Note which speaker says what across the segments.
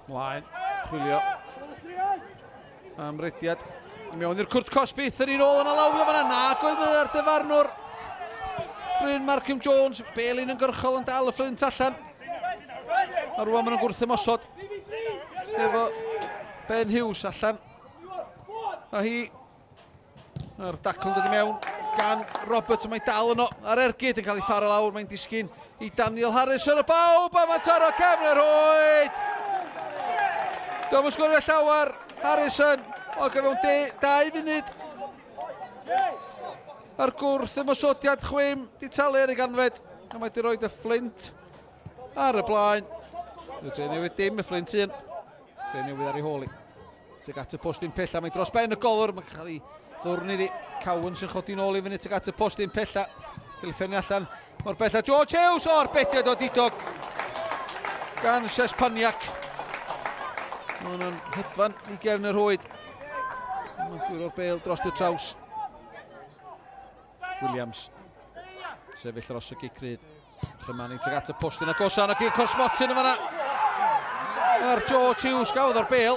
Speaker 1: Mlaen, chwilio am rediad. Mewn i'r cwrt cosbi, thyn ôl yn alawio fanna. Nag oedd ar dyfarnwr. Bryn Markham Jones, Belin yn gyrchol yn dal y Fflint allan. A rwan maen nhw'n gwrth ymosod efo Ben Hughes allan. A hi, a'r dacl yn dod i mewn gan Roberts, mae'n dal yno ar ergyd yn cael ei tharo lawr, mae'n disgyn i Daniel Harris ar y bawb, a mae'n taro cefn yr rhwyd! Dwi'n sgorio llawer, Harrison, o gyfewn 2 funud. A'r gwrth ymosodiad chwim, di talu ar ei ganfed, a mae di roed y Fflint ar y blaen. Y Dre Newydd dim, y Fflint 1. Dre Newydd ar ei hôl i. Tuag at y postyn pella, mae dros ben y golwr, mae'n cael ei ddwrn iddi. Cowan sy'n chodi nôl i fyny tuag at y postyn pella. Cael ei ffennu allan mor bella. George Hughes o'r bediad o didog gan Sespaniak. Mae hwnna'n hedfan i gefn y rhwyd. Mae'n gwyro'r bel dros y traws. Williams sefyll dros y gic rydd. Chymanu tuag at y postyn agosa, yna gic o'r smotyn yn fanna. A'r George Hughes gafodd o'r bel.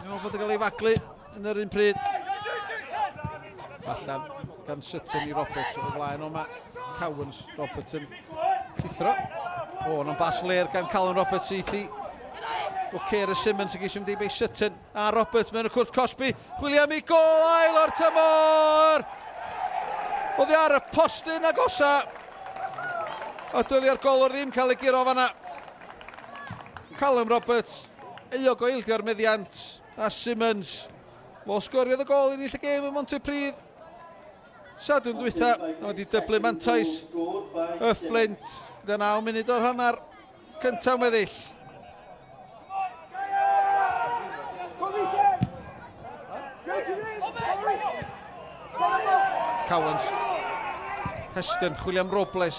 Speaker 1: Mae'n bod yn cael ei faglu yn yr un pryd. Allan gan Sutton i Roberts o flaen o ma Cowans. Roberts yn llithro. O, yna'n bas fler gan Callum Roberts syth i O'Keefe Simmons yn geisio mynd i bei Sutton a Roberts mewn y cwrt cosbi. Chwilio am ei gol ail o'r tymor! Oddi ar y postyn agosa. A dylia'r golwr ddim cael ei guro fanna. Callum Roberts, euog o ildio'r meddiant, a Simmons. Fo sgoriodd y gol i ennill y gêm ym Mhontypridd. Sadwrn dwytha, a wedi dyblu mantais y Fflint gyda 9 munud o'r hanner cyntaf weddill. Cowans. Heston, chwilio am Robles.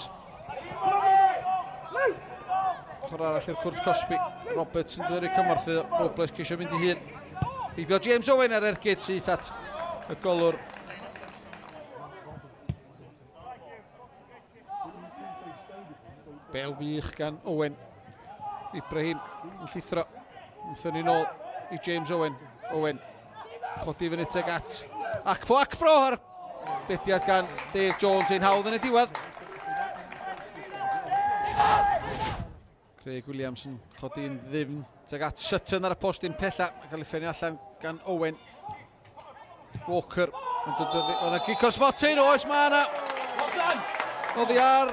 Speaker 1: Ochr arall i'r cwrt cosbi. Roberts yn dod i'r cymorth iddo. Robles ceisio mynd i hun. Heibio James Owen ar ergyd syth at y golwr. Bel wych gan Owen. Ibrahim yn llithro. Yn thynnu nôl i James Owen. Owen chodi fyny teg at Acfo Acfro ar bediad gan Dave Jones ein hawdd yn y diwedd. Craig Williams yn chodi'n ddyfn teg at Sutton ar y postyn pella. Mae'n cael ei ffenio allan gan Owen. Walker yn dod yna gic o'r smotyn, oes mae yna. Oddi ar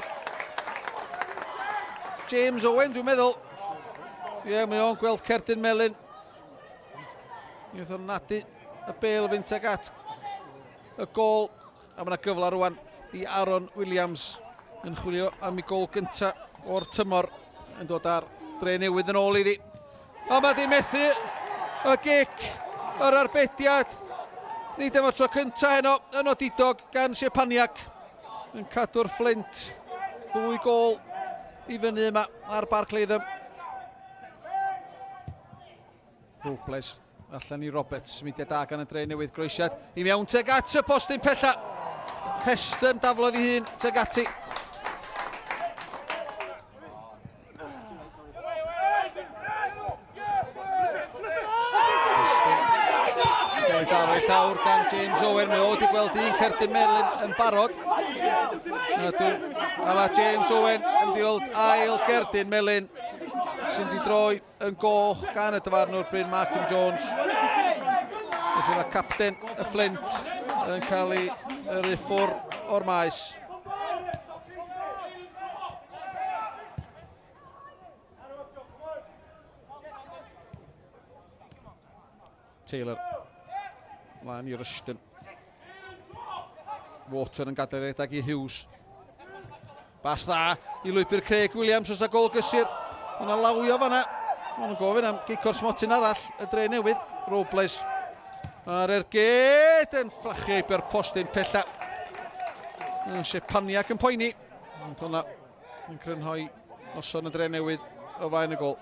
Speaker 1: James Owen, dwi'n meddwl. Ie, yeah, mae o'n gweld cerdyn melyn. Mi oedd o'n nadu y bel fynd teg at y gol. A mae yna gyfle rwan i Aaron Williams yn chwilio am ei gol gyntaf o'r tymor yn dod ar Dre Newydd yn ôl iddi. A mae di methu y gic, yr arbediad. Nid am y tro cyntaf heno yn odidog gan Siepaniak yn cadw'r Fflint. 2 gol i fyny yma ar Barc Latham. Robles allan i Roberts, symudiad da gan y Dre Newydd, groesiad i mewn teg at y postyn pella. Heston daflodd ei hun teg ati. Gael ei daro i llawr gan James Owen. Mae o wedi gweld un cerdyn melyn yn barod. A mae James Owen yn diweld ail gerdyn melyn sy'n di droi yn goch gan y dyfarnwr Bryn Markham Jones. Felly mae capten y Fflint yn cael ei yrru ffwr o'r maes. Taylor. Mlaen i Rushton. Water yn gadael redag i Hughes. Bas dda i lwybr Craig Williams os a gol gysur. Mae'n alawio fanna. Mae'n gofyn am gic o'r smotyn arall y Dre Newydd. Robles. A'r ergyd yn fflachio heibio'r postyn pella. Sepaniak yn poeni. Ond hwnna yn crynhoi noson y Dre Newydd o flaen y gol.